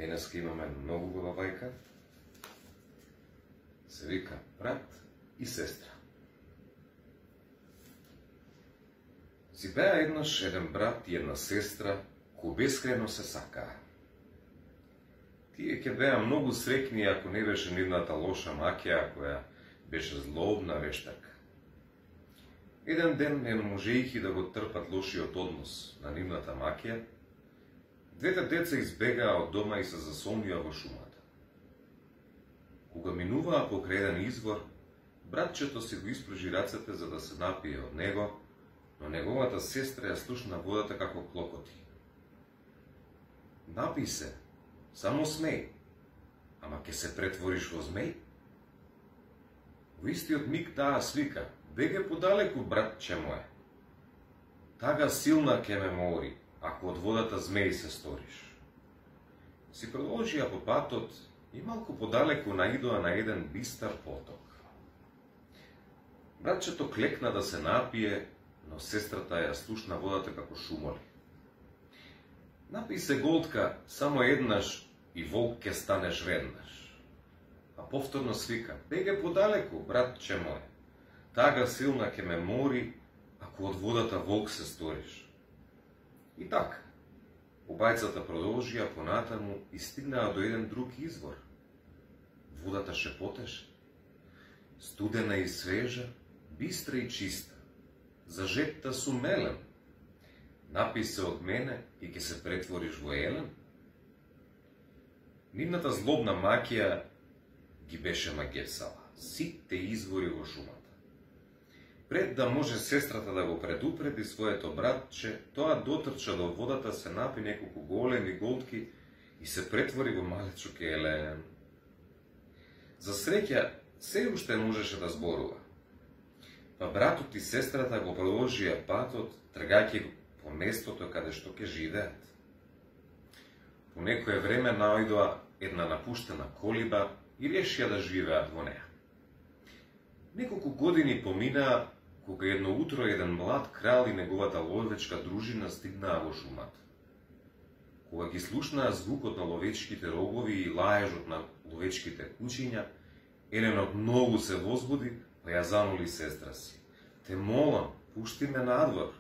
Денеска имаме многу убава бајка. Се вика брат и сестра. Си беа еднаш еден брат и една сестра кои бескрено се сакаа. Тие ќе беа многу среќни ако не беше нивната лоша макија која беше злобна вештарка. Еден ден, не можејќи да го трпат лошиот однос на нивната макија, двете деца избегаа од дома и се засомнија во шумата. Кога минуваа покрај еден извор, братчето си го испружи рацете за да се напие од него, но неговата сестра ја слушна водата како клокоти. Напи се, само смеј, ама ќе се претвориш во змеј? Во истиот миг таа свика: беге подалеку, братче моје. Тага силна ќе ме мори, ако од водата змеј се сториш. Си продолжија по патот и малку подалеку наидоа на еден бистар поток. Братчето клекна да се напие, но сестрата ја слушна водата како шумоли. Напи се голтка само еднаш и волк ќе станеш веднаш. А повторно свика: беге подалеку, братче моје. Тага силна ќе ме мори, ако од водата волк се сториш. И така, обајцата продолжија понатаму и стигнаа до еден друг извор. Водата шепотеше: студена и свежа, бистра и чиста, за жетта сум мелен. Напи се од мене и ќе се претвориш во елен. Нивната злобна макија ги беше магесала сите извори во шумата. Пред да може сестрата да го предупреди своето братче, тоа дотрча до водата, се напи неколку големи голтки и се претвори во малечок елен. За среќа, се уште можеше да зборува. Па братот и сестрата го продолжија патот, тргајќи по местото каде што ќе живеат. По некое време наоѓоа една напуштена колиба и решија да живеат во неа. Неколку години поминаа, кога едно утро еден млад крал и неговата ловечка дружина стигнаа во шумата. Кога ги слушнаа звукот на ловечките рогови и лаежот на ловечките кучиња, еленот многу се возбуди, па ја замоли сестра си: те молам, пушти ме надвор.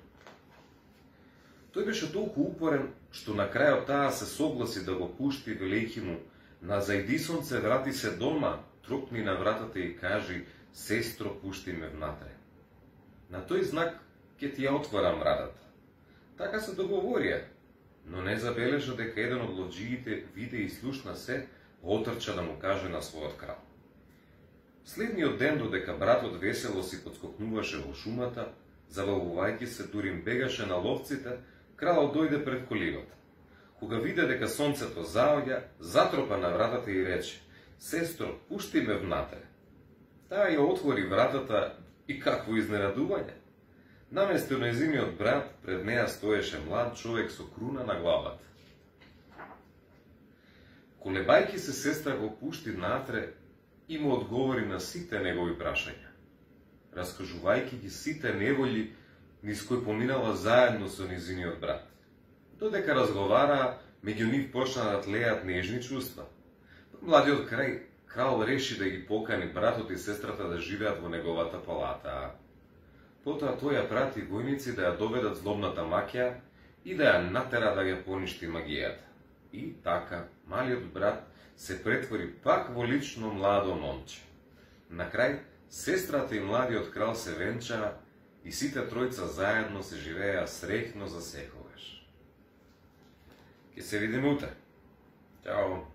Тој беше толку упорен, што на крајот таа се согласи да го пушти, велејќи му: на зајди сонце, врати се дома, тропни на вратата и кажи: сестро, пушти ме внатре. На тој знак ќе ти ја отворам вратата. Така се договорија, но не забележа дека еден од ловџиите виде и слушна се, отрча да му каже на својот крал. Следниот ден, додека братот весело си подскокнуваше во шумата, завалвувајќи се, дури им бегаше на ловците, кралот дојде пред колибата. Кога виде дека сонцето заоѓа, затропа на вратата и рече: сестро, пушти ме внатре. Таа ја отвори вратата и какво изненадување! Наместо нејзиниот брат, пред неа стоеше млад човек со круна на главата. Колебајќи се, сестра го пушти внатре и му одговори на сите негови прашања, раскажувајќи ги сите неволји низ кои поминала заедно со нејзиниот брат. Додека разговараа, меѓу нив почна да тлеат нежни чувства. Младиот крал реши да ги покани братот и сестрата да живеат во неговата палата. Потоа тој ја прати војници да ја доведат злобната макија и да ја натера да ја поништи магијата. И така, малиот брат се претвори пак во лично младо момче. На крај, сестрата и младиот крал се венчаа и сите тројца заедно се живееа среќно за секогаш. Ќе се видиме утре. Чао!